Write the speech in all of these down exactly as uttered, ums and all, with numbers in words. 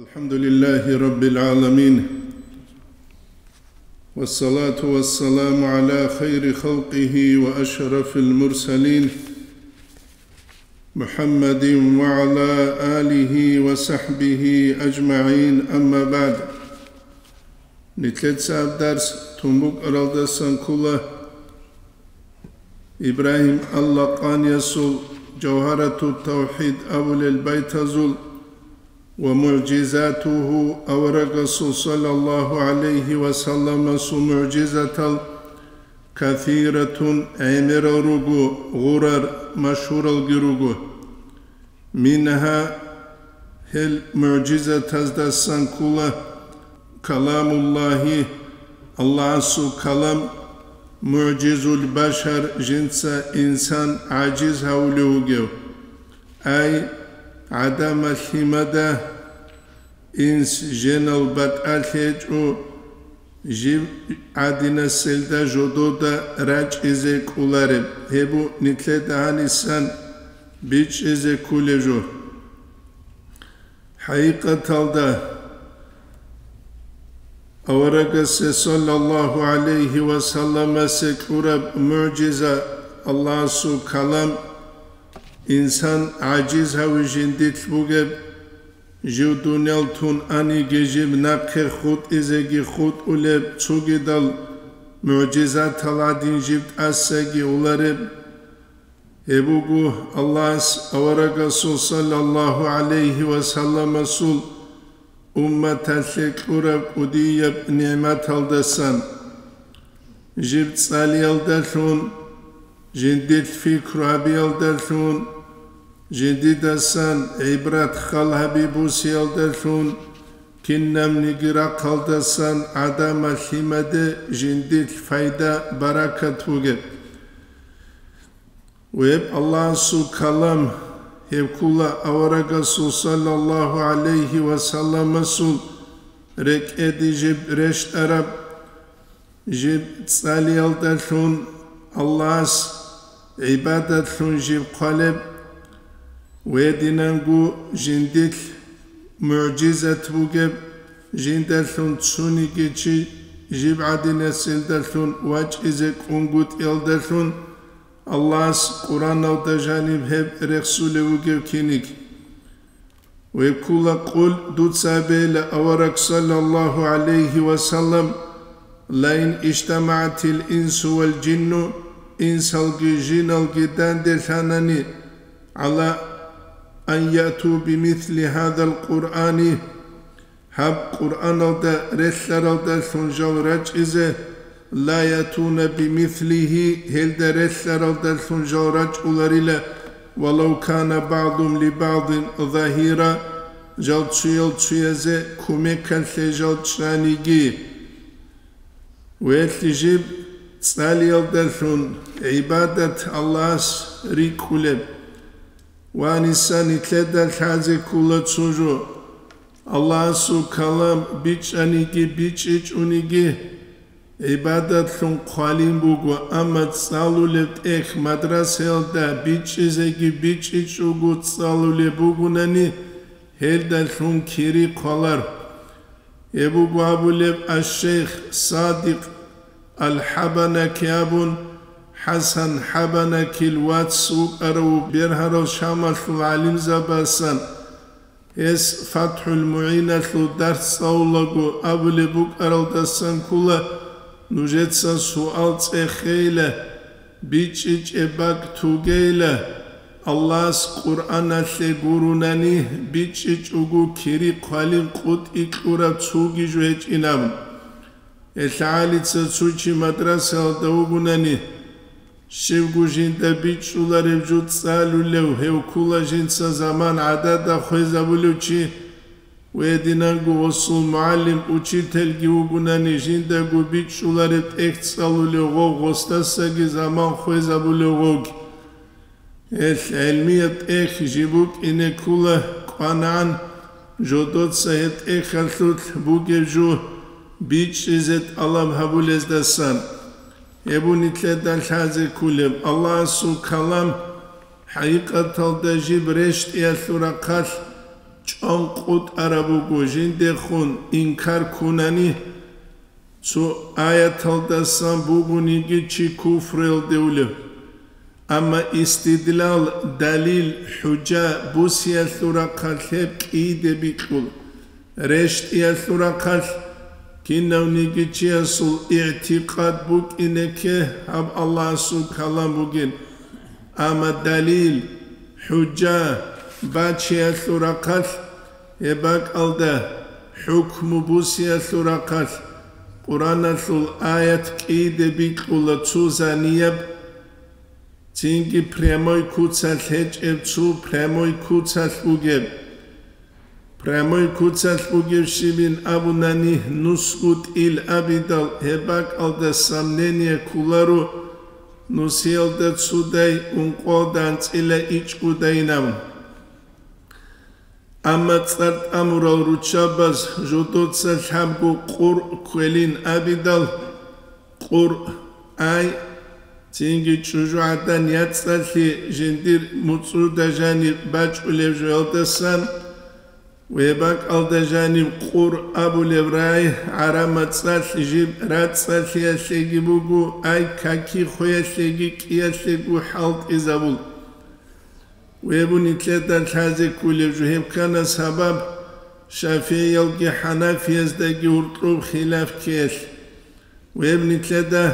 الحمد لله رب العالمين، والصلاة والسلام على خير خلقه وأشرف المرسلين، محمد وعلى آله وصحبه أجمعين، أما بعد. Нилъеца гьаб дарс тун букӀаралдасан ккола Ибрагьим ал-Лакъаниясул Жавгьаратут-Тавхид абулел байтазул ва мугӀжизатугьу, аварагасул саллаллагьу гӀалайгьи ва салламасул мугӀжизатал, касиратун, гӀемерал руго, гъурар, машгьуралги руго. Мингьа, гьел мугӀжизатаздасан ккола, каламуллагьи, Аллагьасул калам, мугӀжизул башар, жинца инсан гӀажиз гьавулев вугев. Ай, гӀадамал лъимада, инс, жинал батӀалъи гьечӀо, жив гӀадинаселда жодода рачӀизе кӀолареб, гьеб нилъеда гьанисан бичӀчӀизе кколеб жо. ХӀакъикъаталда, аварагасе саллаллагьу гӀалайгьи ва салламасе кьураб мугӀжиза, Аллагьасул калам, инсан гӀажиз гьаве жиндилъ бугеб, жив дуниял тун аниги жиб нахъе хутӀизеги хутӀулеб, цогидал мугӀжизатал гӀадин жиб тӀасаги улареб. Гьеб буго Аллагьас аварагасул саллаллагьу гӀалайгьи ва салламасул умматалъе кьураб кӀудияб нигӀматалдасан. Жиб цӀалиялдалъун, жиндилъ пикру гьабиялдалъун, жиндидасан гӀибрат хал гьаби бусиялдалъун, кинабниги рахъалдасан гӀадамал лъимаде жиндилъ пайда, баракат бугеб. Гьеб Аллагьасул калам, гьеб ккола аварагасул саллаллагьу гӀалайгьи ва салламасул рекӀеде жиб рещтӀараб, жиб цӀалиялдалъун Аллагьас гӀибадатлъун жиб хъвалеб, гьединанго жиндилъ мугӀжизат бугеб, жиндалъун цониги чи жиб гӀадинасилдалъун вачӀизе кӀунгутӀиялдалъун, Аллагьас Къуръаналда жаниб гьеб рехсулев вугев киниг. Гьеб ккола, къул, дуца абейла, авараг саллаллагьу гӀалайгьи ва саллам, лаин ижтамагӀатил инсу вал жинну, инсалги жиналги данделъанани, гӀала ан яъту бимисли гьадал Къуръани, гьаб Къуръаналда релълъаралдалъун жал рачӀизе, ла ятуна бимислигьи, гьелда релълъаралдалъун жал рачӀуларила, валав кана багӀдум либагӀдин загьира, жал цоял цоязе кумекалъе жал чӀаниги. Гьелъ жиб цӀалиялдалъун гӀибадат Аллагьас рикӀкӀунеб. Ва нилъеда лъазе ккола цо жо. Аллагьасул калам бичӀчӀаниги бичӀчӀичӀониги гӀибадатлъун хъвалин буго, амма цӀалулеб тӀехь мадрасаялда бичӀчӀизеги бичӀчӀичӀого цӀалулеб бугонани, гьелдалъун кири хъвалар. Гьеб буго абулеб аш-шейх Садикъ ал-ХӀабанаки абун, ХӀасан ХӀабанакил вац вукӀарав бергьарал Шамалъул гӀалимзабасан. Гьес ФатхӀул МугӀиналъул дарс цӀалулаго абулеб букӀаралдасан ккола, нужеца суал цӀехейила, бичӀчӀичӀеб бакӀ тугейила, Аллагьас Къуръаналъе гурунани, бичӀчӀичӀого кири хъвалин къотӀи кьураб цоги жо гьечӀин абун. ГьелъагӀалица цо чи мадрасаялда вугунани, щибго жинда бичӀчӀулареб жо цӀалулев, гьев ккола жинца заман гӀадада хвезабулев чи, гьединанго гъосул мугӀалим, учительги вугунани, жиндаго бичӀчӀулареб тӀехь цӀалулев гъов, гъосдасаги заман хвезабулев гъовги. Гьелъ гӀелмияб тӀехь жиб букӀине ккола кӀванагӀан, жодоца гьеб тӀехьалъулъ бугеб жо бичӀчӀизе тӀалаб гьабулездасан. Гьеб нилъеда лъазе кколеб Аллагьасул калам, хӀакъикъаталда жиб рещтӀиялъул рахъалъ чӀван къутӀараб буго, жиндехун инкар ккунани, цо аяталдасан бугониги чи куфруялде улев. Амма истидлал, далил, хӀужа бусиялъул рахъалъ гьеб кӀийде бикьула. РещтӀиялъул рахъалъ кинавниги чиясул игӀтикъад букӀинеке гьаб Аллагьасул калам бугин. Амма далил, хӀужа бачиялъул рахъалъ, гьеб бакӀалда хӀукму бусиялъул рахъалъ Къуръаналъул аят кӀийде бикьула цо занияб, цинги прямой куцалъ гьечӀеб цо прямой куцалъ бугеб. Прямой куцалъ бугебщибин абунани, нусго тӀил абидал, гьеб бакӀалда сомнение кколаро, нусиялда цодай ункъоялда анцӀила ичӀгодайинаб. Амма цӀар тӀамурал руччабаз жодоца лъабго къуръ кквелин абидал, къуръ, ай, цинги чӀужугӀадан яцӀцӀалъи жиндир муцӀруда жаниб бачӀулеб жоялдасан, гьеб бакӀалда жаниб къуръ абулеб рагӀи гӀараб мацӀалъ жиб рацӀцӀалъиялъеги буго, ай, каки хвеялъеги кӀиялъего хӀалтӀизабул. Гьеб нилъеда лъазе кколеб жо, гьеб ккана сабаб ШафигӀиялги ХӀанафияздаги гьоркьоб хилаф ккеялъ. Гьеб нилъеда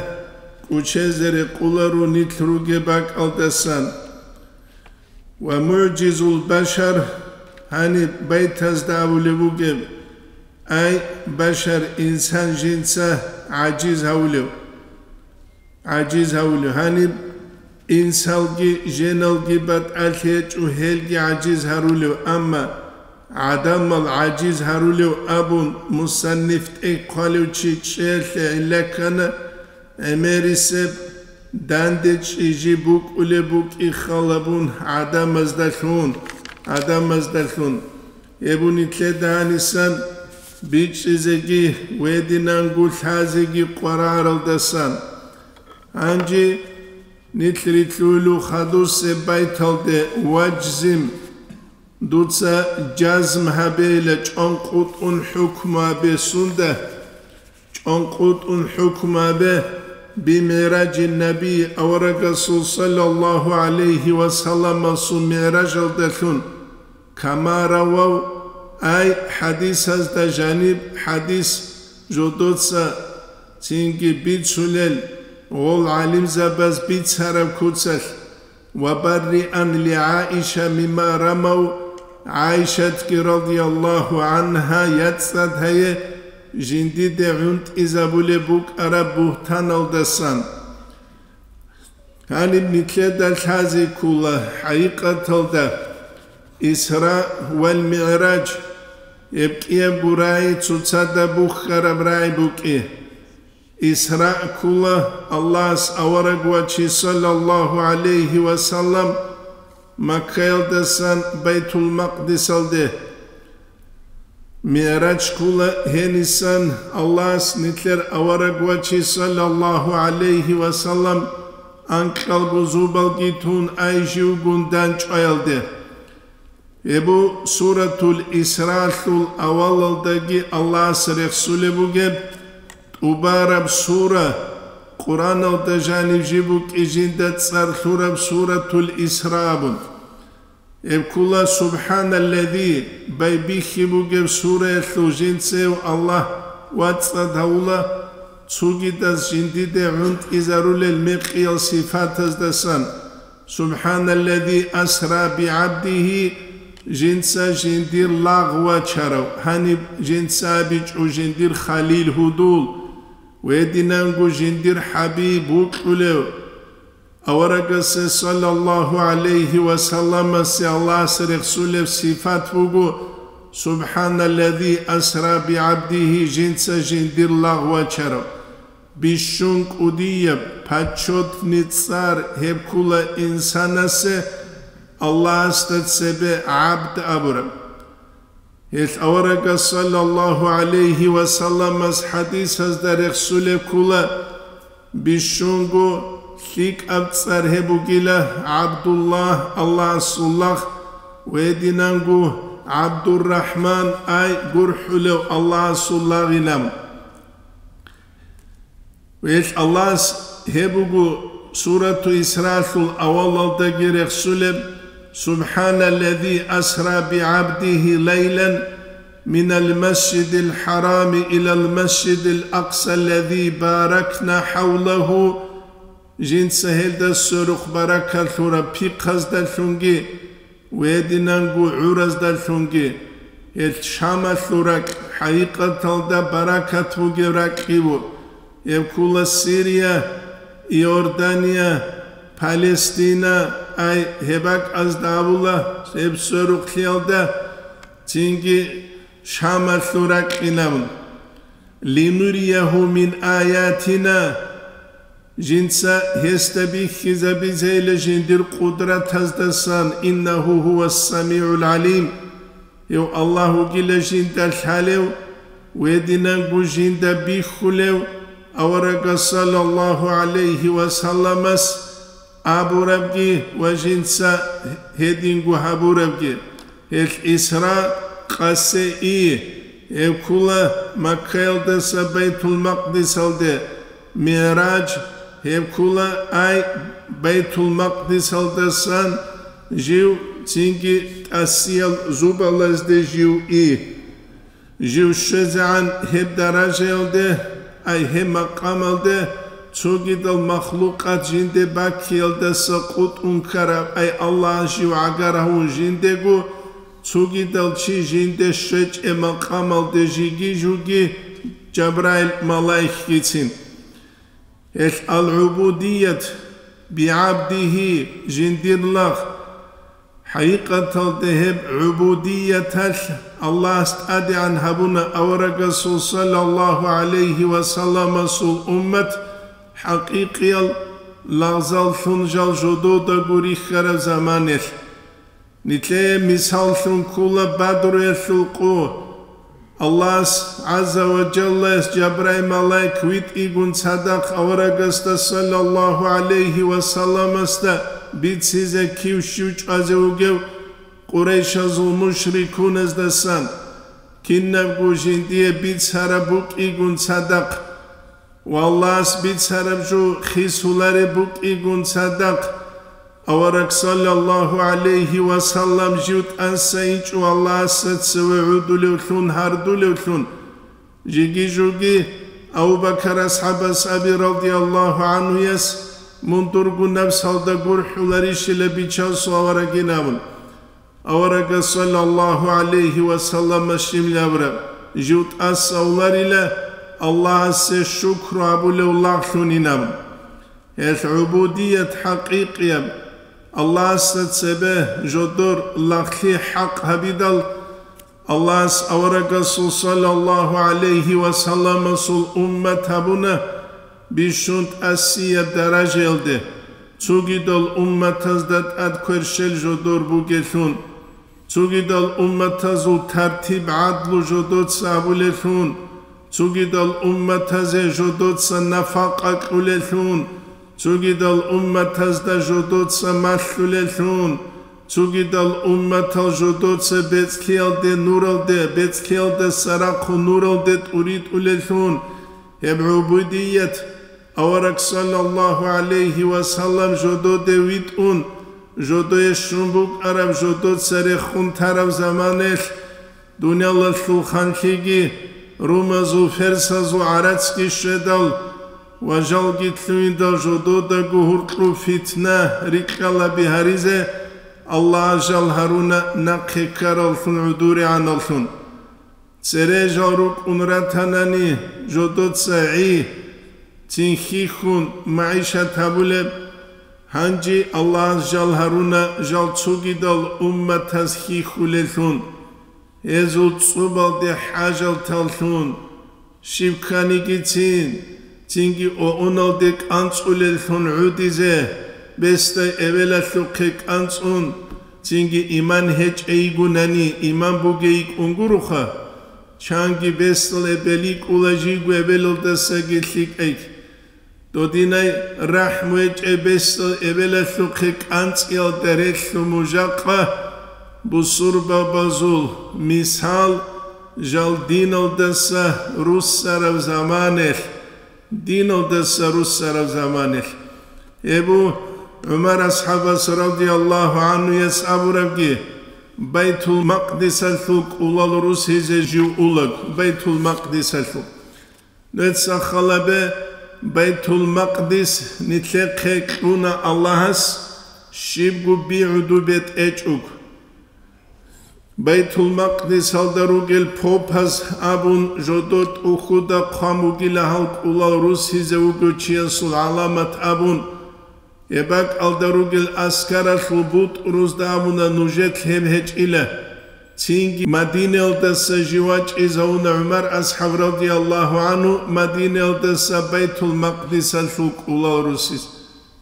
кӀочезе рекъоларо нилъ ругеб бакӀалдасан. Ва мугӀжизул башар гьаниб байтазда абулеб бугеб, ай, башар, инсан жинца гӀажиз гьавулев. гӀажиз гьавулев. Гьаниб инсалги женалги батӀалъи гьечӀо, гьелги гӀажиз гьарулев, амма гӀадамал гӀажиз гьарулев абун мусанниф тӀехъвалев чи чӀеялъе гӀилла ккана, гӀемерисеб данде чӀижи букӀулеб букӀин халабун гӀадамаздалъун, гӀадамаздалъун. Гьеб нилъеда гьанисан бичӀчӀизеги гьединанго лъазеги къвараралдасан. Гьанже нилъ рилълъуйилу хадусеб байталде, важзим, дуца жазм гьабейила, чӀванкъутӀун хӀукму гьабе сунда, чӀванкъутӀун хӀукму гьабе, бимигӀражин наби, аварагасул саллаллагьу гӀалайгьи ва салламасул мигӀражалдалъун, кама равав, ай, хӀадисазда жаниб хӀадис жодоца цинги бицунел, гъол гӀалимзабаз бицараб куцалъ, ва барриан ли ГӀаиша мимма рамав, ГӀаишатги радияллагьу гӀангьа яцӀцӀад гьае жиндиде гӀунтӀизабулеб букӀараб бугьтаналдасан. Гьаниб нилъеда лъазе ккола, хӀакъикъаталда, Исра вал МигӀраж, гьеб кӀиябго рагӀи цоцазда бухьараб рагӀи букӀи. Исра ккола Аллагьас авараг вачи, саллаллагьу гӀалайгьи ва саллам, Маккаялдасан Байтул-Макъдисалде. МигӀраж ккола гьенисан Аллагьас нилъер авараг вачи, саллаллагьу гӀалайгьи ва саллам, анкьалго зобалги тун ай живгун данчӀваялде. Гьеб бу Суратул Исраалъул авалалдаги Аллагьас рехсулеб бугеб, тӀубараб сура, Къуръаналда жанив жиб букӀи жинда цӀар лъураб Суратул Исра абун. Гьеб ккола Субханаллази, байбихьи бугеб сураялъул жинцев Аллагь вацӀцӀад гьавула, цогидаз жиндиде гӀунтӀизарулел мекъиял сифатаздасан. Субханаллази асра бигӀабдигьи, жинца жиндир лагъ вачарав, гьаниб жинца абичӀо жиндир халил гьудул, гьединанго жиндир хӀабиб вукьулев. Аварагасе саллаллагьу гӀалайгьи ва салламасе Аллагьас рехсулеб сифат буго, Субханаллази асра бигӀабдигьи, жинца жиндир лагъ вачарав. Бищун кӀудияб, почётный цӀар гьеб ккола инсанасе Аллагьасда цебе гӀабд абураб. Гьелъ аварагас, саллаллагьу гӀалайгьи ва салламас, хӀадисазда рехсулеб ккола, бищунго лъикӀаб цӀар гьеб бугила ГӀабдуллагь, Аллагьасул лагъ, ва гьединанго ГӀабдуррахӀман, ай гурхӀулев Аллагьасул лагъинав. Гьелъ Аллагьас гьеб буго Сурату Исраалъул авалалдаги рехсулеб: «Субханаллази асра бигӀабдигьи лайлан минал масжидил хӀарами илал масжидил акъсаллази баракна хӀавлагьу». Жинца гьелда сверухъ баракат лъураб пихъаздалъунги, гьединанго гӀураздалъунги. Гьелъ Шамалъул ракь хӀакъикъаталда баракат бугеб ракьги ву. Гьеб ккола Сирия, Иордания, Палестина, ай гьеб бакӀазда абула, гьеб сверухълъиялда, цинги Шамалъул ракьинавун. «Линуриягьу мин аятина», жинца гьесда бихьизабизейила жиндир къудратаздасан, «иннагьу гьувас самигӀул гӀалим», гьев Аллагь вугила жинда лъалев, гьединанго жинда бихьулев, аварагас саллаллагьу гӀалайгьи ва салламас абурабги ва жинца гьединго гьабурабги. Гьелъ Исра къасе и, гьеб ккола Маккаялдаса Байтул-Макъдисалде, МигӀраж, гьеб ккола ай Байтул-Макъдисалдасан жив цинги тӀасиял зубалазде жив и. Жив щвезегӀан гьеб даражаялде, ай гьеб макъамалде, цогидал махлукъат жинде баккиялдаса къутӀун ккараб, ай Аллагь жив гӀагар гьавун жиндего, цогидал чи жинде щвечӀеб макъамалде жиги-жуги Жабраил малаикгицин. Гьелъ ал-гӀубудият бигӀабдигьи, жиндир лагъ. ХӀакъикъаталда гьеб гӀубудияталъ Аллагьас тӀадегӀан гьабуна аварагасул саллаллагьу гӀалайгьи ва салламасул уммат хӀакъикъиял лагъзаллъун жал жододаго рихьараб заманалъ. Нилъее мисаллъун ккола Бадруялъул къо. Аллагьас гӀазза ва жаллаяс Жабраил малаик витӀигун цадахъ аварагасда саллаллагьу гӀалайгьи ва салламасда бицизе кив щив чӀвазе вугев Къурайшазул мушрикуназдасан, кинабго жиндие бицараб букӀигун цадахъ. Ва Аллагьас бицараб жо хисулареб букӀигун цадахъ, авараг саллаллагьу гӀалайгьи ва саллам жив тӀаса инчӀо Аллагьасда цеве гӀодулевлъун, гьардулевлъун, жиги-жуги Абу Бакар асхӀабас аби радияллагьу гӀанхуяс, мун дурго напсалда гурхӀуларищила бичасул аварагин абун. Аварагас саллаллагьу гӀалайгьи ва саллама щиб абураб: «Жив тӀаса авларила Аллагьасе шукру гьабулев лагълъунин», – абун. Гьелъ гӀубудият хӀакъикъияб, Аллагьасда цебе жодор лагълъи хӀакъ гьабидал, Аллагьас аварагасул саллаллагьу гӀалайгьи ва салламасул уммат гьабуна бищун тӀасияб даражаялде, цогидал умматазда тӀад кверщел жодор бугелъун, цогидал умматазул тартиб-гӀадлу жодоца абулелъун, цогидал умматазе жодоца нафакъа кьулелъун, цогидал умматазда жодоца малъулелъун, цогидал умматал жодоца бецӀлъиялде нуралде, бецӀлъиялдаса рахъун нуралде тӀуритӀулелъун, гьеб гӀубудият авараг саллаллагьу гӀалайгьи ва саллам жододе витӀун, жодое щун букӀараб, жодоца рехун тараб заманаялъ, дуниялалъул ханлъиги, румазул, ферсазул гӀарацги щведал ва жалги лъугьиндал жододаго гьуркьуб фитна рикьалаби гьаризе Аллагьас жал гьаруна нахъе ккараллъун гӀодорегӀаналлъун. Цере жал рукӀун ратанани, жодоца гӀи, цин хьихьун магӀишат гьабулеб. Гьанже Аллагьас жал гьаруна жал цогидал умматаз хьихьулеллъун, гьезул цӀубалде хӀажалталлъун, щиб кканигицин, цинги оуналде кӀанцӀулеллъун гӀодизе, бесдай эбелалъухъе кӀанцӀун, цинги иман гьечӀей йигунани, иман бугей йикӀун гуроха. Чанги бесдал эбел йикӀула жийго эбелалдасаги лъикӀай. Додинай рахӀму гьечӀеб бесдал эбелалъухъе кӀанцӀиялда релълъун мужахъа, Бусурбабазул мисал жал диналдаса руссараб заманелъ, диналдаса руссараб заманелъ. Эбу ГӀумар асхӀабас радияллагьу гӀанхуяс абурабги, Байтул-Макъдисалъул кӀулал русизе жив улаг, Байтул-Макъдисалъул. Нуца халабе, Байтул-Макъдис нилъехъе кьуна Аллагьас, щибго бигӀуду бетӀечӀого. Байтул-Макъдисалда ругел попаз абун, жодор тӀухьуда хъван бугила гьал кӀулал русизе вугев чиясул гӀаламат абун, гьеб бакӀалда ругел аскаралъул бутӀрузда абуна нужер лъеб гьечӀила. Цинги Мадинаялдаса жив вачӀизавуна ГӀумар асхӀаб радияллагьу гӀанху Мадинаялдаса Байтул-Макъдисалъул кӀулал русиз.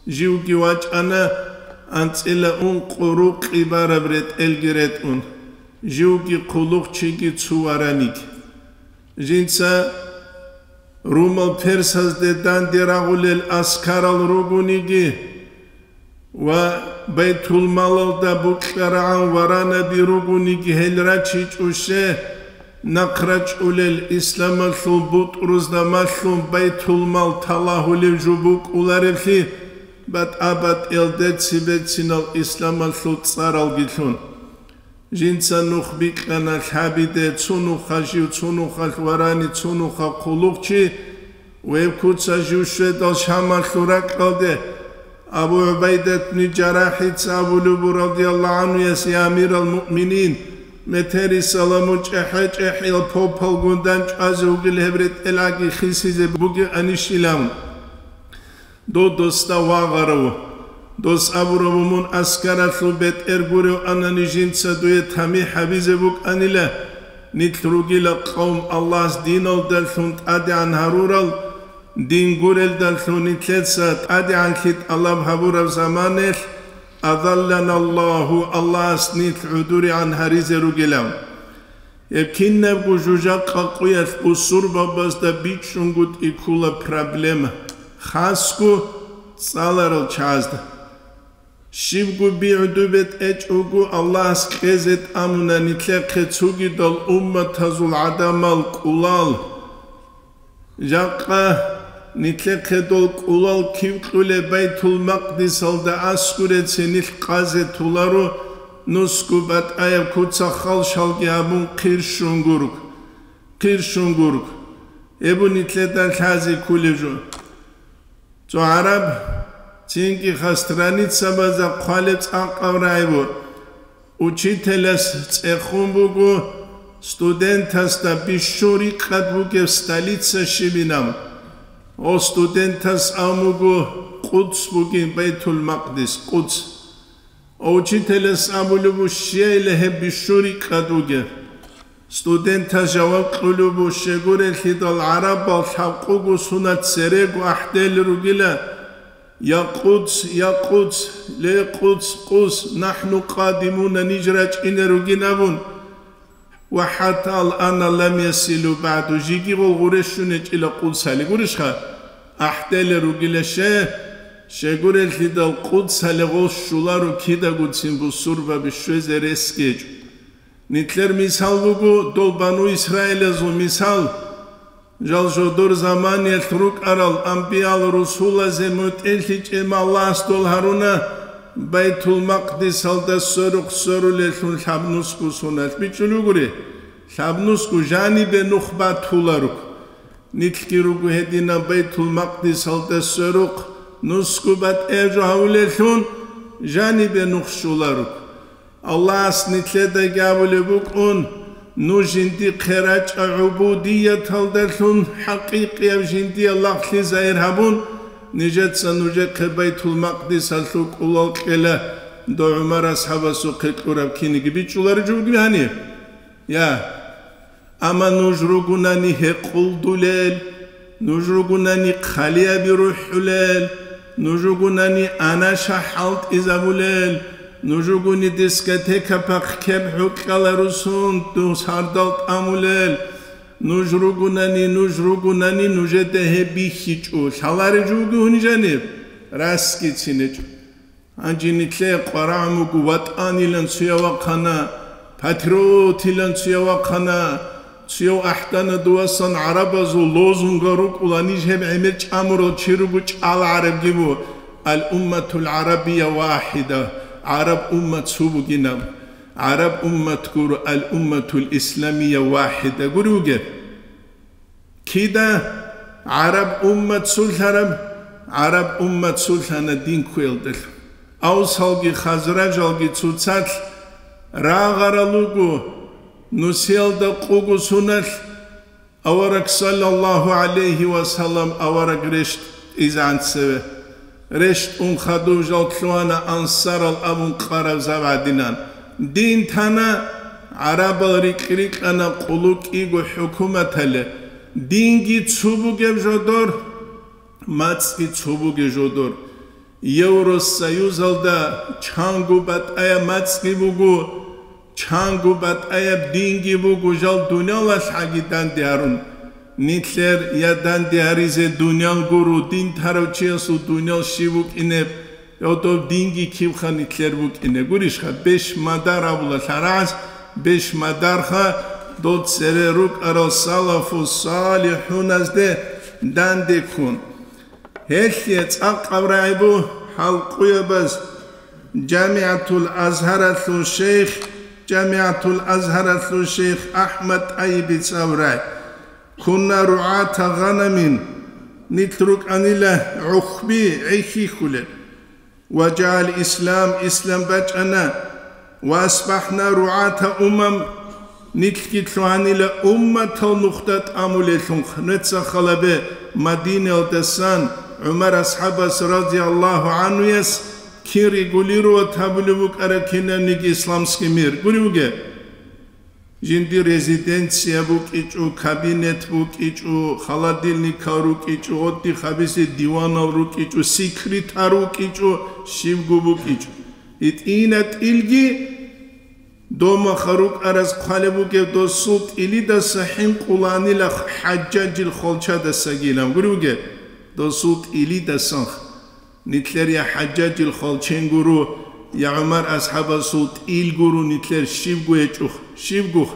Живги вачӀана анцӀила ункъо рукъи бараб ретӀелги ретӀун, живги хъулухъчиги цо вараниги. Жинца румал-персазде данде рагъулел аскарал ругониги ва Байтулмалалда букьарагӀан варанаби ругониги гьел рачичӀоше, нахъ рачӀулел исламалъул бутӀрузда малъун Байтулмал талагьулев жо букӀулареблъи, батӀа-батӀиялде цебецинал исламалъул цӀаралги лъун. Жинца нух бикьана лъабиде, цо нуха жив, цо нухалъ варани, цо нуха хъулухъчи, веб куца жив щведал Шамалъул ракьалде, Абу ГӀубайдат бни Жарахица абулеб буго, радияллагьу гӀанхуяс: «Я амирал муъминин, метерисала мун чӀехӀе-чӀехӀиял попалгун дандчӀвазе вугил, гьеб ретӀел гӀаги хисизе бугеб анищилан». Дов досда вагъарав. Дос абурав: «Мун аскаралъул бетӀер гурев анани, жинца дуе тамихӀ гьабизе букӀанила. Нилъ ругила къавм Аллагьас диналдалъун тӀадегӀан гьарурал, дин гурелдалъун нилъеца тӀадегӀанлъи тӀалаб гьабураб заманалъ, азалланаллагьу, Аллагьас нилъ гӀодорегӀан гьаризе ругилан». Гьеб кинабго жужахъа къуялъ бусурбабазда бичӀчӀунгутӀи ккола проблема, хасго цӀаларал чагӀазда. Щибго бигӀуду бетӀечӀого Аллагьас кьезе тӀамуна нилъехъе цогидал умматазул гӀадамал кӀулал. Жакъа нилъехъе дол кӀулал кив кьулеб? Байтул-Макъдисалда аскуреце нилъ къазе толаро, нусго батӀаяб куца халшалги гьабун хъирщун гург, хъирщун гург. Гьеб нилъеда лъазе кколеб жо. Цо гӀараб цинги хас страницабазда хъвалеб цӀакъаб рагӀи буго. Учителас цӀехун буго студентасда бищун рикъад бугеб столица щибинаб. Гъо студентас абун буго Къудс бугин, Байтул-Макъдис, Къудс. Гъо учителас абулеб буго, щияйила гьеб бищун рикъад бугеб. Студентас жаваб кьулеб буго, щегурелъидал гӀарабал лъабкъого суна церего ахӀдел ругила: «Я Къудс, я Къудс, ле Къудс, Къудс, нахӀну къадимуна, ниж рачӀине ругин», – абун. Ва хӀатта ал-ана лам ясилу багӀду, жиги гъол гъуре щун гьечӀила Къудсалде, гурищха? АхӀдел ругила щай, щегурелъидал Къудсалде гъол щоларо кидагоцин бусурбаби щвезе рес гьечӀо. Нилъер мисал буго дол бану Исраилазул мисал. Жал жодор заманиялъ рукӀарал амбиял-русулазе мутӀигӀлъичӀеб Аллагьас дол гьаруна Байтул-Макъдисалда сверухъ сверулеллъун лъабнусго суналъ бичӀчӀулел ругони, лъабнусго жанибе нух батуларо. Нилъги руго гьединаб Байтул-Макъдисалда сверухъ нусго батӀияб жо гьавулеллъун жанибе нух щоларо. Аллагьас нилъедаги абулеб букӀун: «Нуж жиндихъе рачӀа гӀубудияталдалъун, хӀакъикъияб жиндие лагълъи загьир гьабун, нижеца нужехъе Байтул-Макъдисалъул кӀулал кьела, дов ГӀумар асхӀабасухъе кьураб киниги бичӀчӀулареб жо бугеб гьаниб? Я». Амма нуж ругунани гьекъолдулел, нуж ругунани хъалияби рухӀулел, нуж ругунани анаша хӀалтӀизабулел, нуж ругуни дискотека пахкеб гӀукьала русун дус гьардал тӀамулел, нуж ругунани, нуж ругунани нужеда гьеб бихьичӀо, лъалареб жо бугеб гьуни жаниб? Расги цинечӀо. Гьанже нилъее къварагӀун вуго ватӀанилан цуяв вахъана, патриотилан цуяв вахъана, цуяв ахӀдана дувасан гӀарабазул лозунгал рукӀула, ниж гьеб гӀемер чӀамурал чи руго чӀала гӀарабги бу, ал-умматул гӀарабия вахӀида, гӀараб уммат цо бугинаб, гӀараб уммат гуро ал-умматул исламия вахӀида гури вугеб. Кида гӀараб уммат цулъараб? ГӀараб уммат цулъана дин кквеялдалъун. Авсалги хазражалги цоцалъ рагъарал руго, нусиялда къуго суналъ авараг саллаллагьу гӀалайгьи ва саллам авараг рещтӀизегӀан цеве. РещтӀун хадув жал лъугьана ансарал абун къараб зав гӀадинан. Дин тана гӀарабал рикь-рикьана къулу кӀиго хӀукуматале. Динги цо бугеб жодор, мацӀги цо бугеб жодор. Евросоюзалда чанго батӀаяб мацӀги буго, чанго батӀаяб динги буго, жал дуниялалъ гӀаги данде гьарун. Нилъер я данде гьаризе дуниял гуро, дин тарав чиясул дуниял щиб букӀинеб, я дов динги кибха нилъер букӀине. Гурищха, беш мадар абула лъарагӀаз, беш мадарха дол цере рукӀарал салафу салихӀуназде данде ккун. Гьелъие цӀакъаб рагӀи бу хӀалкъуябаз ЖамигӀатул Азгьаралъул шейх, ЖамигӀатул Азгьаралъул шейх АхӀмад ТӀайибица абурай: «Кунна ругӀата гъанамин», нилъ рукӀанила гӀухьби гӀехьихьулел. «Ва жаал ислам», ислам бачӀана. «Ва асбахӀна ругӀата умам», нилъги лъугьанила умматал нухда тӀамулеллъун. Нуца халабе Мадинаялдасан ГӀумар асхӀабас радияллагьу гӀанхуяс кин регулировать гьабулеб букӀараб кинабниги исламский мир. Гури вуге. Жинди резиденция букӀичӀо, кабинет букӀичӀо, холодильникал рукӀичӀо, отдых гьабизе диванал рукӀичӀо, секретарь вукӀичӀо, щибго букӀичӀо. ГьитӀина тӀилги домаха рукӀараз хъвалеб бугеб досул тӀилидаса хӀинкъуланила ХӀажжажил хвалчадасагилан гури вугеб, досул тӀилидасан. Нилъер я ХӀажжажил хвалчен гуро, я ГӀумар асхӀабасул тӀил гуро нилъер щибго гьечӀухъ, щибгухъ,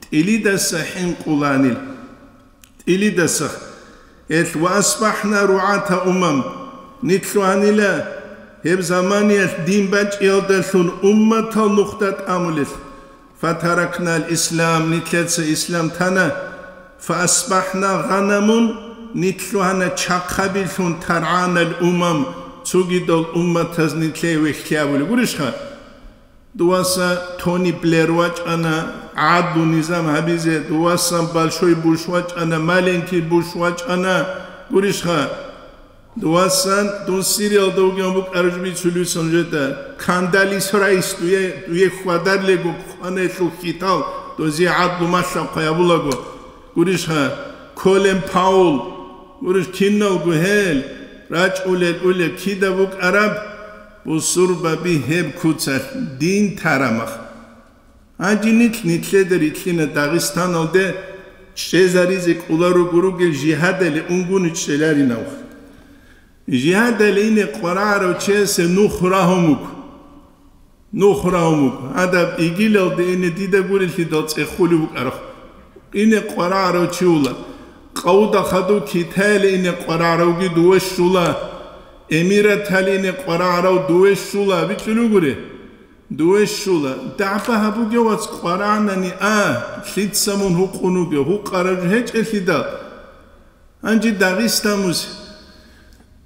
тӀилидаса хӀинкъуланил, тӀилидаса. Гьелъ: «Ва асбахӀна ругӀата умам», нилъ лъугьанила гьеб заманиялъ дин бачӀиялдалъун умматал нухда тӀамулел. «Фатаракнал ислам», нилъеца ислам тана. «Фаасбахна гъанамун», нилъ лъугьана чахъабилъун, «таргӀанал умам», цогидал умматаз нилъее вехьлъи абулеб гурищха? Дуваса Тони Блэр вачӀана гӀадлу низам гьабизе, дувасан Большой Буш вачӀана, Маленький Буш вачӀана гурищха? Дувасан дун Сириялда вугев букӀараб жо бицулевсан жеда. Кандалис райс дуе, дуе хьвадар лего хъванелъул хьитал, дозе гӀадлу малъа хъваябулаго. Гурищха, Колин Паул, гурищ киналго гьел, рачӀулел улеб кида букӀараб, бусурбаби гьеб куцалъ дин тарамах. Гьанже нилъ нилъеда рилълъина Дагъистаналде чӀезаризе кӀоларуго ругел жигьадале унгуни чӀеларинавха. Жигьадале ине къварагӀарав чиясе нух рагьун вуго. Нух рагьун вуго. Гьадаб игилалде ине дида гурелъидал цӀехулев вукӀарах. Ине къварагӀарав чи вула. Къавуда хадув Китаяле ине къварагӀаравги дуве щула. Эмиратале ине къварагӀарав дуве щула. БичӀчӀулев гури. Дуве щула, дагӀба гьабуге, вац, къварагӀнани а, лъица мун гьукъун вугев, гьукъараб жо гьечӀелъидал. Гьанже Дагъиста мусе.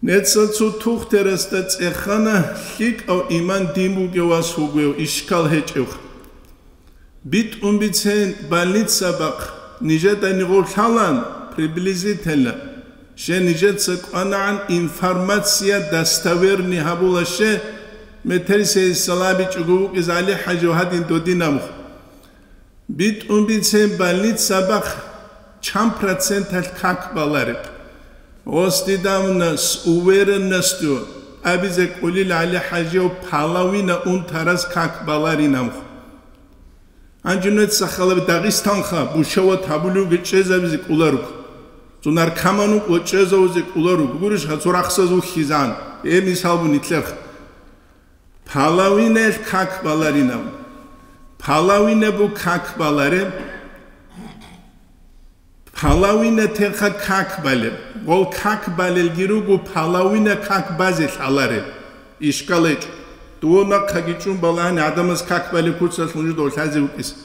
Нецал цо тухтерасда цӀехана, лъикӀав иман дин бугев вас вугев, ишкал гьечӀев. БитӀун бицен больница бахъ, нижеда нигъов лъалан, приблизительно. Ще нижеца кӀванагӀан информация достоверный гьабула, ще метерисейисал абичӀого вукӀиз ГӀали-хӀажив гьадин додинаб. БитӀун бицен больница бахъ чан проценталъ как балареб. Гъос дидамуна с уверенностью абизе кӀолил ГӀали-хӀажив половина унтараз как баларинаб. Гьанже нуца халаб Дагъистанха бушават гьабулевги чӀезабизе кӀоларуго. Цо наркоман вукӀа чӀезавизе кӀоларуго. Гурищха, цо рахсаз вухьизан. Э, мисал бу нилъерха. Половинаялъ как баларинав. Половина бу как балареб. Половина терха как балеб. Гъол как балелги руго, половина как базе лъалареб. Ишкал гьечӀо. Дов нахъаги чӀун балагьани гӀадамаз как балеб куцалъ нужеда лъазе вукӀиса.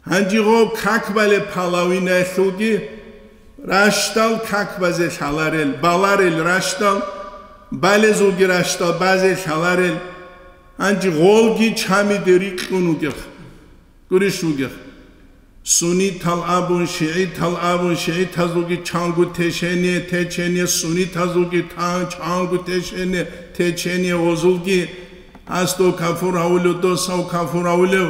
Гьанже гъоб как балеб половинаялъулги ращтал как базе лъаларел, баларел ращтал, балезулги ращтал базе лъаларел. Гьанже гъолги чамиде рикьун вугех, гурищ вугех. Суннитал абун, шигӀитал абун, шигӀитазулги чанго течение, течение, суннитазулги тан чанго течение, течение, гъозулги гьасдав кафур гьавулев, досав кафур гьавулев.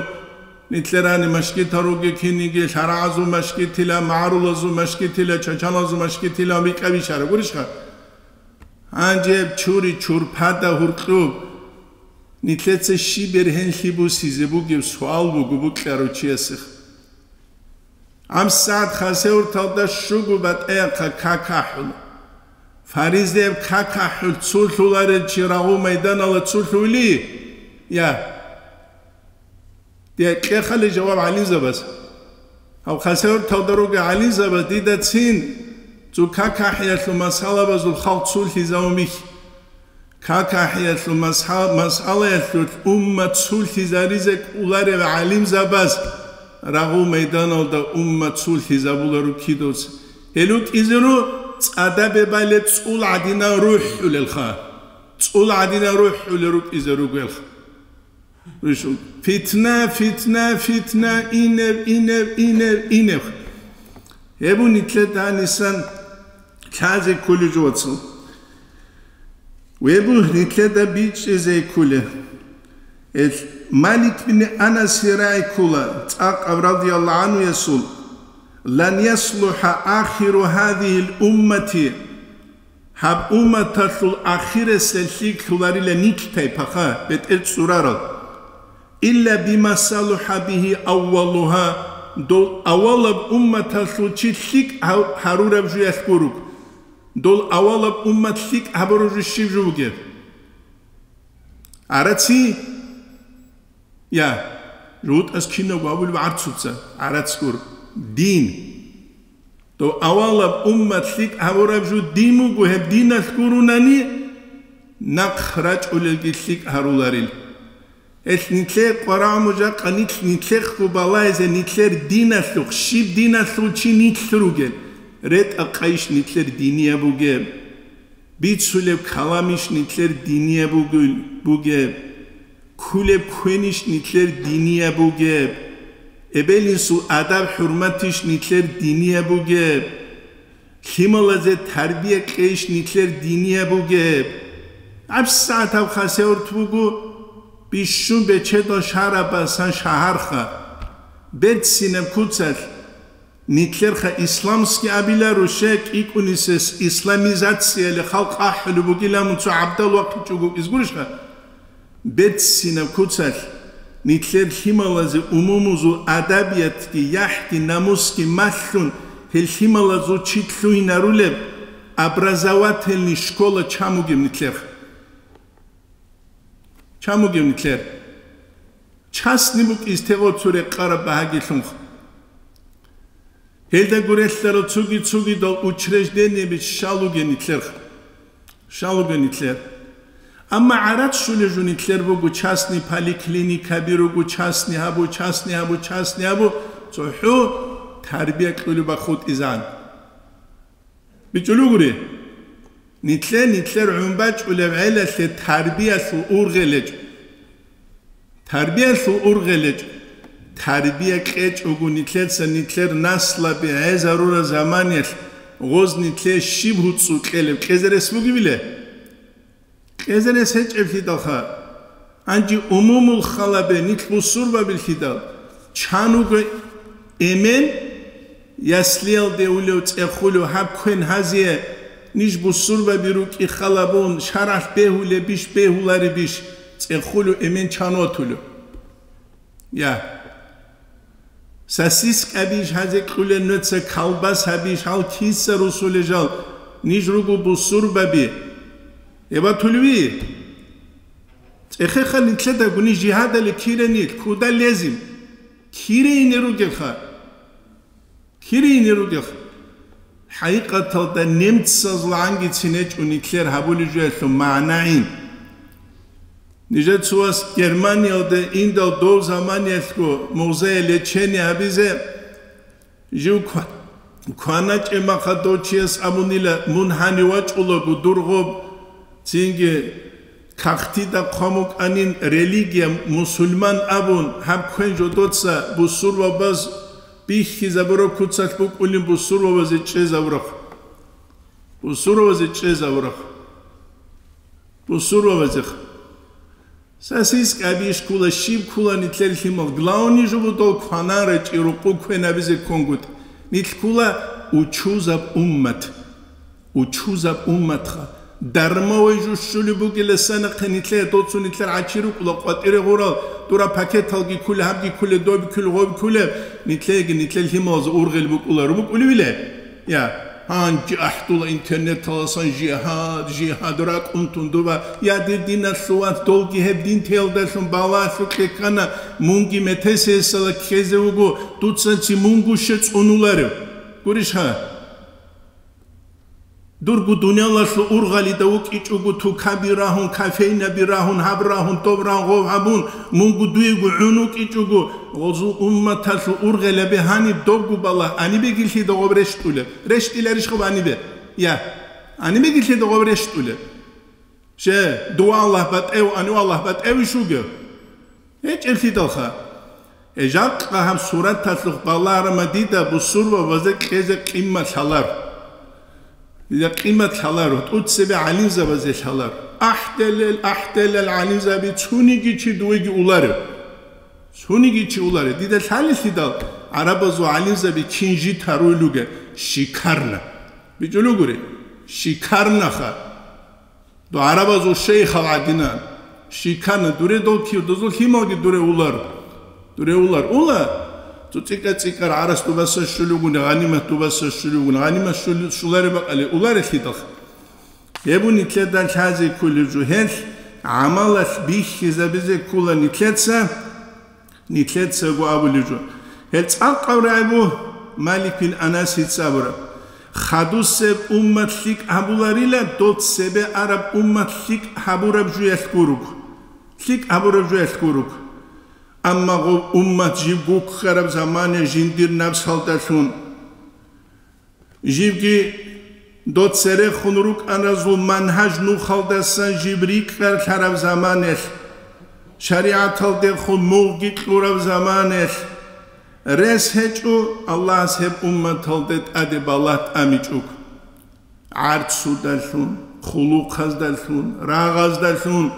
Нилъерани машгитал ругел киниги, лъарагӀазул машгитила, магӀарулазул машгитила, чачалазул машгитила, бикӀа бишара, гурищха? Гьанже гьеб чури чурпада гьуркьуб, нилъеца щиб бергьенлъи бусизе бугеб суал буго букьарав чиясех. ГьабсагӀат Хасавюрталда щуго батӀаяб как ахӀула. Фаризаяб как ахӀул цо лъуларел чи рагъул майданала цо лъугьули? Я. Дие кьехале жаваб гӀалимзабаз. Гьав Хасавюрталда ругел гӀалимзабаз дидацин цо как ахӀиялъул масъалабазул халкъ цо лъизавумихь. Как ахӀиялъул масъа-, масъалаялъулъ уммат цо лъизаризе кӀоларев гӀалимзабаз рагъул майданалда уммат цо лъизабуларо кидавца. Гьел рукӀизару цӀадабе балеб цӀул гӀадинан рухӀулелха. ЦӀул гӀадинан рухӀулел рукӀизаругелха. Фитна, фитна, фитна, инев, инев, инев, инев. Гьеб нилъеда гьанисан лъазе кколеб жо, вацал. Гьеб нилъеда бичӀчӀизе кколеб. Эл Малик бин Анасе рагӀи ккола, цӀакъав радияллагьу гӀанхуясул: «Лан яслуха ахиру гьазихил уммати». Гьаб умматалъул ахирасел лъикӀ лъуларила нилъ тайпаха, бетӀер цӀурарал. «Илла бима салуха бигьи аввалугьа», дол авалаб умматалъул чи лъикӀ гьав-, гьарураб жуялъ гуруг. Дол авалаб уммат лъикӀ гьабураб жо щиб жо бугеб? ГӀараци? Я, жугьутӀаз кинабго абулеб гӀарцуца, гӀарацгур, дин. Дов авалаб уммат лъикӀ гьабураб жо дин буго, гьеб диналъ гурунани, нахъ рачӀулелги лъикӀ гьаруларил. Гьелъ нилъее къварагӀму жакъа нилъ нилъехъго балагьизе нилъер диналъухъ, щиб диналъул чи нилъ ругел, ретӀа-къайищ нилъер динияб бугеб. Бицулеб каламищ нилъер динияб бугел-, бугеб? Ккулеб квенищ нилъер динияб бугеб? Эбел-инсул адаб-хӀурматищ нилъер динияб бугеб? Лъималазе тарбия кьейищ нилъер динияб бугеб? ГьабсагӀат гьаб Хасавюрт буго бищун бечедал шагьараб басан шагьарха. Берцинаб куцалъ, нилъерха исламский абиларо, щай кӀикӀунисес исламизацияли халкъ ахӀулеб бугилан мун цо гӀабдал вахъичӀого изгурищха? Берцинаб куцалъ, нилъер лъималазе умумузул адабиятги, яхӀги, намусги малъун, гьел лъималазул чи лъугьинарулеб образовательный школа чан бугеб нилъерха? Чан бугеб нилъер? Частный букӀин истегъо цо рекъараб багьагилъунха. Гьелда гурелъарал цуги-цугидал учреждениеби щал ругел нилъер. Щал ругел нилъер. Амма гӀарац щулел жо нилъер буго, частный поликлиникаби руго, частный гьабу, частный гьабу, частный гьабу, цохӀо тарбия кьулеб бахъутӀизан. БичӀчӀулев гури, нилъе нилъер гӀун бачӀулеб гӀелалъе тарбиялъул ургъел гьечӀо. Тарбиялъул ургъел гьечӀо. Тарбия кьечӀого нилъеца нилъер наслаби гӀезарураб заманиялъ гъоз нилъе щиб гьуцӀцӀу кьелеб кьезе рес бугебиле? Кьезе рес гьечӀеблъидалха. Гьанже умумул халабе нилъ бусурбабилъидал, чан вуго эмен, яслиялде улев, цӀехулев, гьаб квен гьазие, ниж бусурбаби рукӀи халабун, шаргӀалъ бегьулебищ, бегьуларебищ, цӀехулев эмен чан ватулев? Я. Сосискабищ гьазе кьулел нуца, колбасабищ, гьал киса русулел жал, ниж руго бусурбаби. Эбатулви? Эхеха, нилъеда гуни жигьадали киранил куда лезим? Кире ине ругелха. Кире ине ругелха. ХӀакъикъаталда немцазул гӀангицин гьечӀо нилъер гьабулеб жоялъул магӀнагӀин. Нижецувас Германиялде индал дов заманиялъго музее лечение гьабизе, жив ква-, кваначӀеб махъа дов чияс абунила, мун гьанив вачӀулаго дур гъоб, цинги кагътида хъван букӀанин религия мусульман абун, гьаб квен жодоца бусурбабаз бихьизабураб куцалъ букӀунин бусурбабазе чӀезабураб. Бусурбабазе чӀезабураб. Бусурбабазех. Сосиска абищ ккула, щиб ккула нилъер лъимал. Главный жо буго дол кванан рачӀи, рукъу квен абизе кконгутӀ. Нилъ ккула учузаб уммат. Учузаб умматха. Дармавай жо щулеб бугеласанахъе нилъее доцун нилъер гӀачи рукӀула къватӀире гъурал, дура пакеталги ккуле, гьабги ккуле, доби ккуле, гъоби ккуле, нилъееги нилъер лъималазул ургъел букӀула, рубукӀулевиле? Я, гьанже ахӀдула интернеталасан жигьад, жигьад ракӀун тундуба. Я, дир диналъул вац, долги гьеб дин теялдалъун балагьлъукье ккана, мунги метесесала ккезе вуго, дуцанци мунго ще цӀунуларев. Гурищ гьа? Дурго дуниялалъул ургъалида вукӀичӀого, тукаби рагьун, кофейнаби рагьун, гьаб рагьун, доб рагьун, гъов гьабун, мунго дуего гӀун вукӀичӀого, гъозул умматалъул ургъелаби гьаниб добго балагь, гьанибеги лъида гъоб рещтӀулеб? РещтӀиларищ гъоб гьанибе? Я, гьанибеги лъида гъоб рещтӀулеб? Че, дова Аллагь батӀев, гьанив Аллагь батӀевищ вугев? ГьечӀеблъидалха. Э, жакъа гьаб сураталъухъ балагьарама дида бусурбабазе кьезе къимат лъалар. Дида къимат лъалар, тӀуцебе гӀалимзабазе лъалар. АхӀделел, ахӀделел гӀалимзаби цуниги чи дуеги уларев. Цуниги чи уларев. Дида лъалелъидал гӀарабазул гӀалимзаби кин жит гьаруй луге, шикарна. БичӀулев гури, шикарнаха. Дов гӀарабазул шейхал гӀадинан, шикарна, дуре дол кив, дозул лъималги дуре улар. Дуре улар. Ула, цо цӀикӀа-цӀикӀар гӀарас дубаса щулевгун, гъанимат дубаса щулевгун, гъанимат щули-, щулареб бакӀали, уларелъидал. Гьеб нилъеда лъазе кколеб жо, гьелъ гӀамалалъ бихьизабизе ккола нилъеца. Нилъецаго абулеб жо. Гьел цӀакъав рагӀи буго Малик бин Анасица абураб: «Хадусеб уммат лъикӀ гьабуларила, дол цебе араб уммат лъикӀ гьабураб жуялъ гуруг. ЛъикӀ гьабураб жуялъ гуруг. Амма гъов уммат жив гуккараб замане жиндир напсалдалъун». Живги дов церехун рукӀаразул манхӀаж нухалдасан жив рикӀкӀалъараб заманалъ, шаригӀаталдехун мугъги кьураб заманалъ, рес гьечӀо Аллагьас гьеб умматалде тӀаде балагь тӀамичӀого. ГӀарцудалъун, хъулухъаздалъун, рагъаздалъун,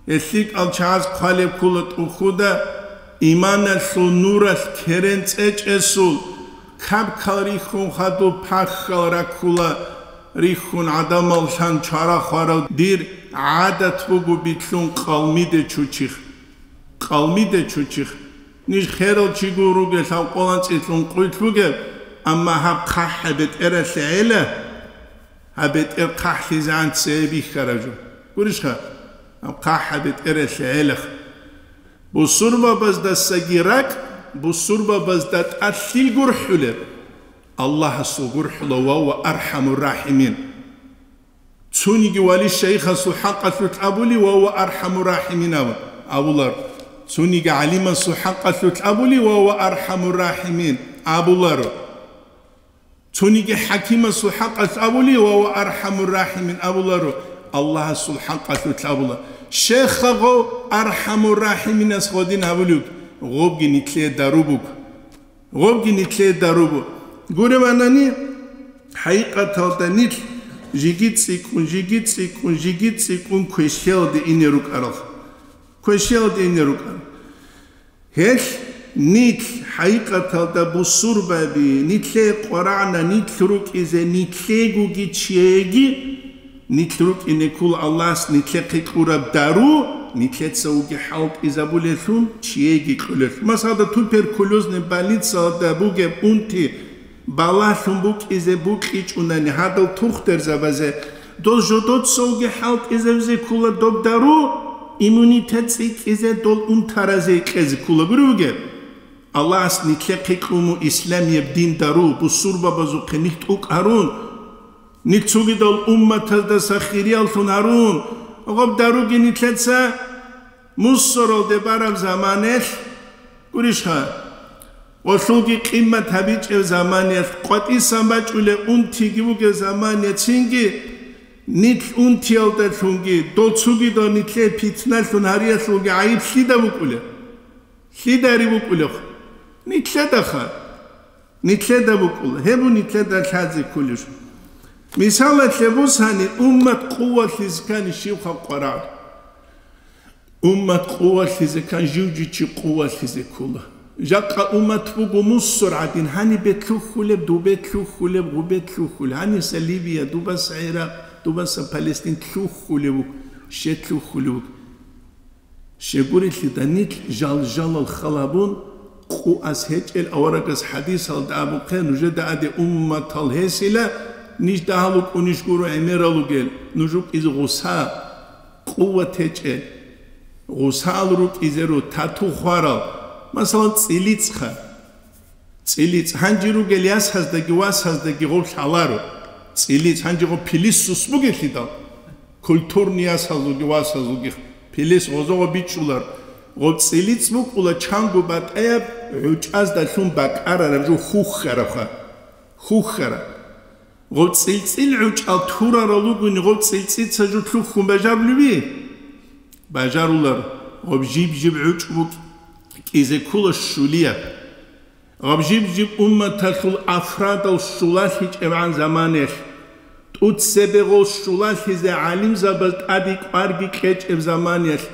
Гьел лъикӀал чагӀаз хъвалеб ккола тӀухьуда, иманалъул нуралъ керен цӀечӀесул, кабкал рихьун хадуб пахьал раккула, рихьун гӀадамал лъан чара хварав дир гӀадат буго битлъун къалмиде чучих. Къалмиде чучих. Ниж херал чигун ругел гьав къолан цӀилъун къуйлъ бугеб, амма гьаб хъахӀ гьеб бетӀералъе гӀела, гьаб бетӀер хъахӀлъизегӀан цее бихьараб жо. Гурищха? Гьаб хъахӀ гьаб бетӀералъе гӀелах. Бусурбабаздасаги ракӀ, бусурбабазда тӀад лъил гурхӀулеб? Аллагьасул гурхӀула, ва ва архӀамур рахӀимин. Цониги вали шайхасул хӀакъалъулъ абули, ва ва архӀамур рахӀимин абу-, абулар. Цониги гӀалимасул хӀакъалъулъ абули, ва ва архӀамур рахӀимин абуларо. Цониги хӀакимасул хӀакъалъ абули, ва ва архӀамур рахӀимин абуларо, Аллагьасул хӀакъалъулъ абула. Щехъа гъов архӀамур рахӀиминас гъодин абулев, гъобги нитлъе дару буго. Гъобги нитлъе дару буго. Гуребанани, хӀакъикъаталда нилъ жиги цӀикӀкӀун, жиги цӀикӀкӀун, жиги цӀикӀкӀун квешлъиялде ине рукӀарал. Квешлъиялде ине рукӀарал. Гьелъ нилъ хӀакъикъаталда бусурбаби, нилъее къварагӀна нилъ рукӀизе, нилъегоги чиеги, нилъ рукӀине ккола Аллагьас нилъехъе кьураб дару, нилъеца вуги хӀалтӀизабулелъул, чиеги кьулелъул. Масала, туберкулезный больницалда бугеб унти балагьлъун букӀизе букьичӀунани гьадал тухтурзабазе, дол жодоцавги хӀалтӀизабизе ккола доб дару, иммунитет цӀикӀкӀизе, дол унтаразе кьезе ккола гури бугеб. Аллагьас нилъехъе кьуму исламияб дин дару, бусурбабазухъе нилъ тӀукӀ гьарун, нилъ цогидал умматаздаса хирияллъун гьарун, гъаб даруги нилъеца мусоралде бараб заманелъ гурищха? Гъолъулги къиммат гьабичӀев заманиялъ, къватӀисан бачӀулев унтиги вугев заманиялъ, цинги нилъ унтиялдалъунги, дол цугидал нилъее питналъун гьариялъулги гӀайиб лъида букӀулеб? Лъидари букӀулеб? Нилъедаха. Нилъеда букӀула. Гьеб бу нилъеда лъазе кколеб жо. Мисалалъе бусани, уммат къувалъизе ккани щив халкъ варагӀ? Уммат къувалъизе ккан жив-жив чи къувалъизе ккола. Жакъа уммат буго мусор гӀадин, гьанибе лъухьулеб, дубе лъухьулеб, гъубе лъухьулеб, гьаниса Ливия, дубаса ГӀиракъ, дубаса Палестин лъухьулеб буго, ще лъухьулеб буго. Щегурелъидал нилъ жал-жалал халабун, къуас гьечӀел аварагас хӀадисалда абухъе, нужеда аде умматал гьесила, ниж дагьал вукӀунищ гуро гӀемерал ругел, нуж рукӀизе гъуса, къуват гьечӀел, гъусал рукӀизе ру тату хварал, масалан, цӀилицӀха. ЦӀилиц гьанже ругел ясаздаги васаздаги гъов лъаларо. ЦӀилиц гьанже гъов пилис сус бугелъидал, культурный ясазулги васазулги пилис гъозогъо бичӀчӀулар. Гъов цӀилиц букӀула чанго батӀаяб гӀучӀаздалъун бакӀарараб жо хухьарабха. Хухьараб. Гъов цӀилцӀил гӀучӀал турарал ругони, гъов цӀилцӀица жо лъухьун бажарулеби? Бажарулар. Гъов жиб-жиб гӀучӀ букӀизе ккола щулияб. Гъаб жиб-жиб умматалъул афрадал щулалъичӀебгӀан заманаялъ, тӀуцебегъул щулалъизе гӀалимзабаз тӀаде кӀварги кьечӀеб заманаялъ,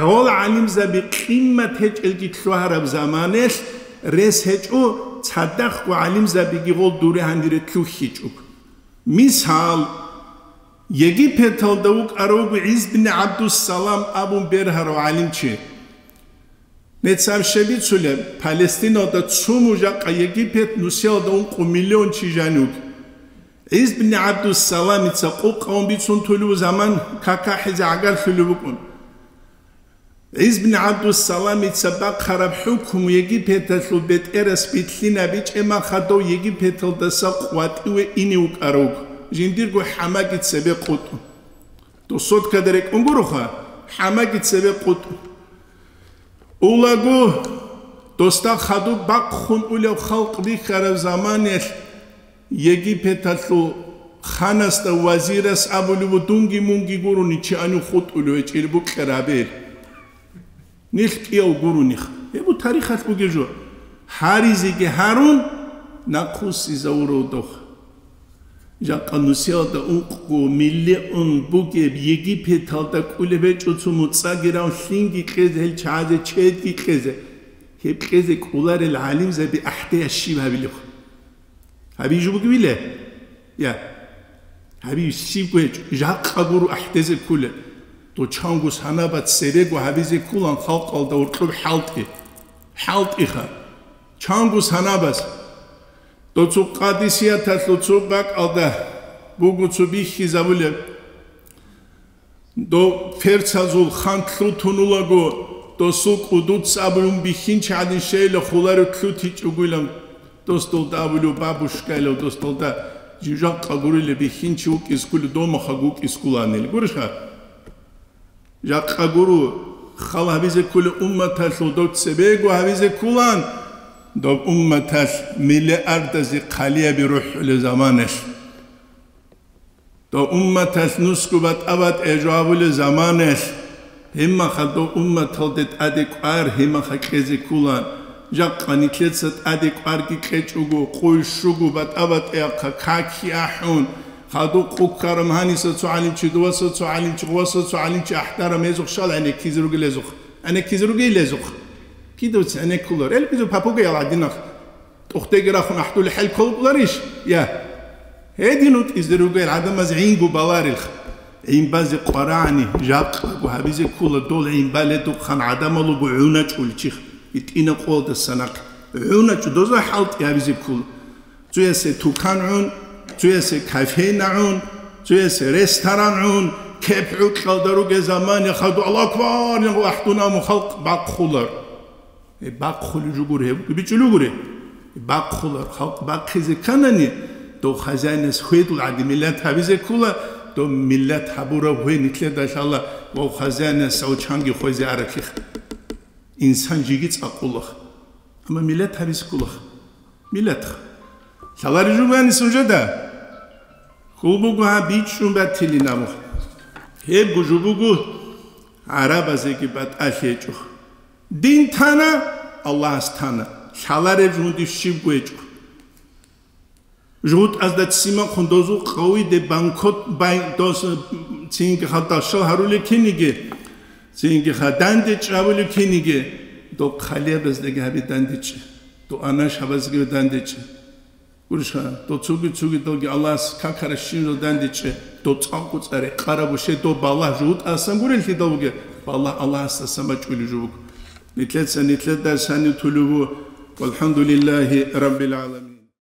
гъол гӀалимзаби къиммат гьечӀелги лъугьараб заманаялъ рес гьечӀо, цадахъго гӀалимзабиги гъол дуре гьанире лъухьичӀого. Мисал, Египеталда вукӀарав вуго ГӀиз бин ГӀабдуссалам абун бергьарав гӀалимчи. Нецаб щиб бицулеб, Палестиналда цуму жакъа Египет нусиялда ункъо миллион чи жанив. ГӀиз бин ГӀабдуссаламица къукъавун бицун тулев заман какахӀизе гӀагарлъулев вукӀун. ГӀиз бин ГӀабдуссаламица бахъараб хӀукму Египеталъул бетӀерас билълъинабичӀеб махадав Египеталдаса къватӀиве ине вукӀарав, жиндирго хӀамаги цебе къутӀун. Досоткада рекӀун гуроха, хӀамаги цебе къутӀун. Улаго, досда хадуб бахъун улев халкъ бихьараб заманаялъ Египеталъул ханасда вазирас абулев ву: «Дунги мунги гурони чи гьанив хутӀулев гьечӀел букьарабел». Нилъ кӀияв гурониха. Гьеб бу тарихалъ бугеб жо. Гьаризеги гьарун, нахъвуссизавурав дох. Жакъа нусиялда ункъго миллион бугеб Египеталда кӀулеб гьечӀо цо муцӀаги рав лъинги кьезе, гьел чагӀазе чедги кьезе. Гьеб кьезе кӀоларел гӀалимзаби ахӀдеяс щиб гьабилеб? Гьабизе бугебила? Я. Гьабизе щибго гьечӀо, жакъа гуро ахӀдезе кколел. Дов чанго санабац цебего гьабизе кколан халкъалда гьоркьоб хӀалтӀи. ХӀалтӀиха. Чанго санабац. Дов цо Къадисияталъул цо бакӀалда буго цо бихьизабулеб. Дов персазул хан лъутунулаго, досул кӀудуц абун бихьинчи гӀадин щейила хулари лъутичӀогойилан, дос долда абулев бабушкайилав, дос долда жужахъа гурилеб бихьинчи вукӀиз кколев домахъа вукӀиз кколанил. Гурищха? Жакъа гуру хал гьабизе кколев умматалъул дов цебего гьабизе кколан, дов умматалъ миллиардазе хъалияби рухӀулев заманалъ. Дов умматалъ нусго батӀа-батӀе жо гьабулел заманаялъ, гьимаха дов умматалде тӀаде кӀвар гьимаха кьезе кколан, жакъа нилъеца тӀаде кӀварги кьечӀого, къуй щуго батӀа-батӀеяхъа каки ахӀун, хадуб къуккарам гьаниса цо гӀалимчи, дуваса цо гӀалимчи, гъуваса цо гӀалимчи ахӀдарам гьезухъ щал гӀенеккизе ругел гьезухъ, гӀенеккизе ругел гьезухъ. Кидавци гӀенеккулар, элбизу папугаял гӀадинахъ. ТӀухьдеги рахун ахӀдулел хӀал кколукӀуларищ? Я. Гьедин вутӀизе ругел гӀадамаз гӀинго баларилха. ГӀин базе къварагӀани, жакъаго гьабизе ккола дол гӀин баледухъан гӀадамал руго гӀуначӀул чихъ, итӀина къолдаса нахъ. ГӀуначӀу доза хӀалтӀи гьабизе ккола. Цоясе тукан гӀун, цоясе кофейна гӀун, цоясе ресторан гӀун, Кеп гӀукьалда ругел заманаялъ хадур Аллагьу акбар ян ахӀдуна мун халкъ бахъулар. Э, бахъулеб жо гури гьеб, бичӀчӀулев гури. Бахъулар, халкъ бахъизе кканани, дов хазяинас хведул гӀаги миллат гьабизе ккола, дов миллат гьабураб гьвей нилъеда лъала ва хазяинас гьав чанги хвезе араблъиха. Инсан жеги цӀакъулаха. Амма миллат гьабизе кколаха. Миллатха. Лъалареб жо бугони нужеда? Хьул буго гьаб бичӀчӀун батилин абун. Гьебго жо буго гӀарабазеги батӀалъи гьечӀо. Дин тана, Аллагьас тана. Лъалареб жугьунде щибго гьечӀо. ЖугьутӀазда ццимахъун дозул къавиде банкот бай-, дос, цинги хадашал гьарулел киниги, цинги хадандечӀ абулел киниги, дол хъалиябаздаги гьабе дандечӀ, дол анашабазги дандечӀ. Гурищха, дол цуги-цугидалги Аллагьас какаращинал дандечӀ, дол цӀакъго цӀаре къарабуше, дол балагь жугьутӀасан гуреллъидал бугеб, балагь Аллагьасдасан бачӀулеб жо буго. Нилъеца нилъеда санив тулев ву, валхӀамдулиллагьи раббил гӀаламин.